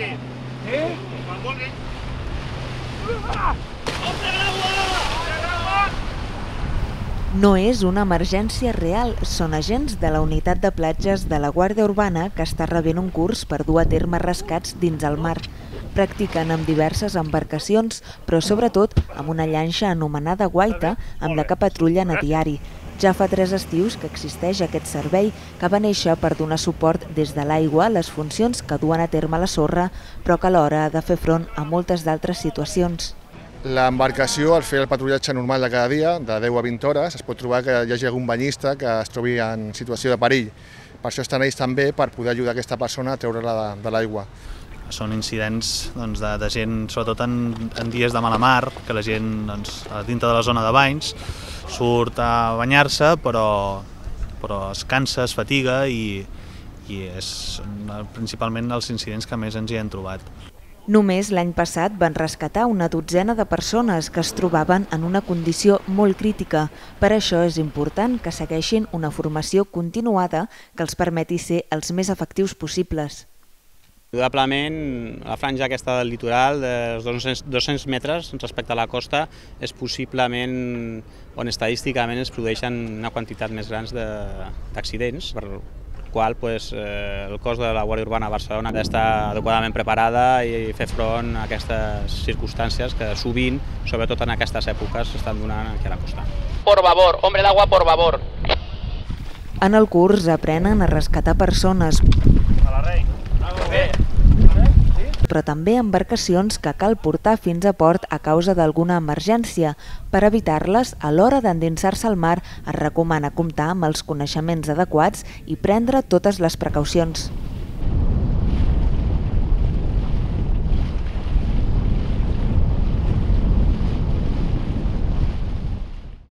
vulgui. Sí? Quan vulgui. No és una emergència real, són agents de la unitat de platges de la Guàrdia Urbana que està rebent un curs per dur a terme rescats dins el mar. Practiquen amb diverses embarcacions, però sobretot amb una llanxa anomenada guaita amb la que patrullen a diari. Ja fa 3 estius que existeix aquest servei que va néixer per donar suport des de l'aigua a les funcions que duen a terme la sorra, però que alhora ha de fer front a moltes d'altres situacions. L'embarcació, al fer el patrullatge normal de cada dia, de 10 a 20 hores, es pot trobar que hi hagi algun banyista que es trobi en situació de perill. Per això estan ells també per poder ajudar aquesta persona a treure-la de l'aigua. Són incidents de gent, sobretot en dies de mala mar, que la gent dintre de la zona de banys surt a banyar-se, però es cansa, es fatiga i és principalment els incidents que més ens hi hem trobat. Només l'any passat van rescatar una dotzena de persones que es trobaven en una condició molt crítica. Per això és important que segueixin una formació continuada que els permeti ser els més efectius possibles. Indudablement, la franja aquesta del litoral, dels 200 metres respecte a la costa, és possiblement on estadísticament es produeixen una quantitat més grans d'accidents, per qual el cos de la Guàrdia Urbana a Barcelona ha d'estar adequadament preparada i fer front a aquestes circumstàncies que sovint, sobretot en aquestes èpoques, s'estan donant aquí a la costa. Por favor, hombre d'agua, por favor. En el curs aprenen a rescatar persones, però també embarcacions que cal portar fins a port a causa d'alguna emergència. Per evitar-les, a l'hora d'endinsar-se al mar, es recomana comptar amb els coneixements adequats i prendre totes les precaucions.